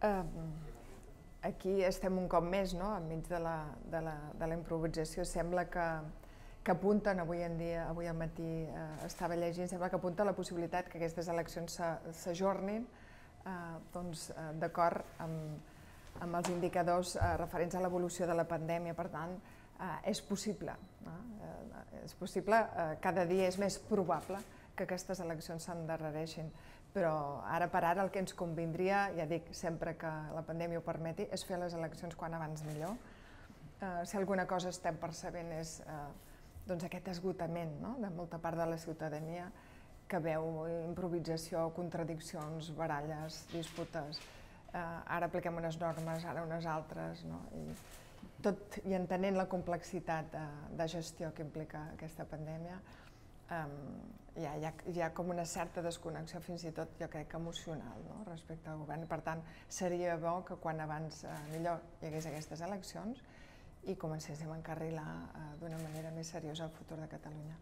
Aquí estem un cop més, no?, enmig de la improvisació. Sembla que apunten, avui en dia, avui al matí estava llegint, sembla que apunta la possibilitat que aquestes eleccions s'ajornin d'acord amb els indicadors referents a l'evolució de la pandèmia. Per tant, és possible, cada dia és més probable que aquestes eleccions s'endarrereixin, però ara per ara el que ens convindria, ja dic, sempre que la pandèmia ho permeti, és fer les eleccions quan abans millor. Si alguna cosa estem percebent és aquest esgotament de molta part de la ciutadania que veu improvisació, contradiccions, baralles, disputes. Ara apliquem unes normes, ara unes altres, tot i entenent la complexitat de gestió que implica aquesta pandèmia, hi ha com una certa desconnexió, fins i tot jo crec emocional, respecte al govern. Per tant, seria bo que quan abans millor hi hagués aquestes eleccions i comencéssim a encarrilar d'una manera més seriosa el futur de Catalunya.